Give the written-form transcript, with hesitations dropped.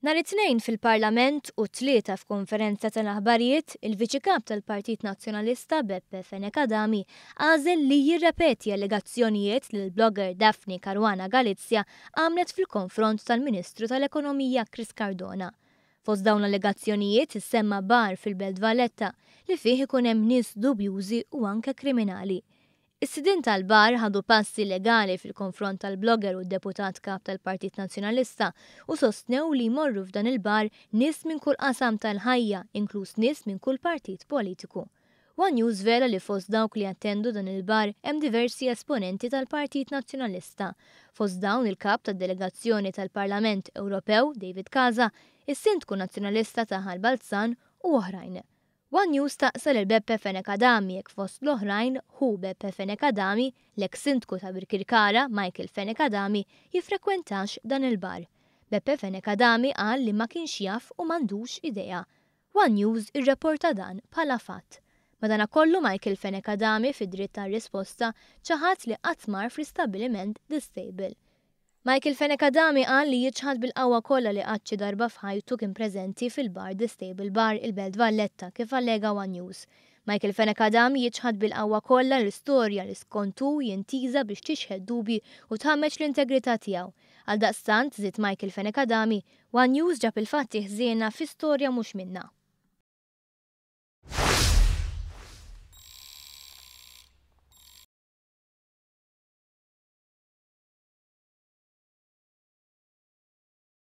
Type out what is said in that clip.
Nhar it-Tnejn fil-Parlament u t-Tlieta f'konferenza tal-aħbarijiet, il-Viċi Kap tal-Partit Nazzjonalista Beppe Fenech Adami għażel li jirrepeti allegazzjonijiet li l-blogger Daphne Caruana Galizia għamlet fil-konfront tal-Ministru tal-Ekonomija Chris Cardona. Fost dawn l-allegazzjonijiet issemma bar fil-Belt Valletta li fih ikun hemm nies dubjużi u anke kriminali. Is-sidien tal-bar ħadu passi legali fil-konfront tal-blogger u d-Deputat Kap tal-Partit Nazzjonalista u sostnew li jmorru f'dan il-bar nies minn kull qasam tal-ħajja, inkluż nies minn kull partit politiku. One News żvela li fost dawk li jattendu dan il-bar hemm diversi esponenti tal-Partit Nazzjonalista, fost dawn il-Kap tad-Delegazzjoni tal-Parlament Ewropew, David Casa, is-Sindku Nazzjonalista ta' Ħal Balzan u oħrajn. One News staqsa lil Beppe Fenech Adami jekk fost l-oħrajn ħu Beppe Fenech Adami, l-eks Sindku ta' Birkirkara, Michael Fenech Adami, jiffrekwentax dan il-bar. Beppe Fenech Adami qal li ma kienx jaf u m'għandux idea. One News irreporta dan bħala fatt. Madanakollu Michael Fenech Adami fid-dritt għar-risposta ċaħad li qatt mar fl-istabbiliment The Stable. Michael Fenech Adami qal li jiċħad bil-qawwa kollha li qatt xi darba f'ħajtu kien preżenti fil-bar The Stable Bar, il-Belt Valletta, kif allega one News. Michael Fenech Adami jiċħad bil-qawwa kollha l-istorja li skont hu hi intiża biex tixħet dubji u tħammeġ l-integrità tiegħu. Għaldaqstant, żied Michael Fenech Adami, one News ġab il-fatti ħżiena fi storja mhux minnha.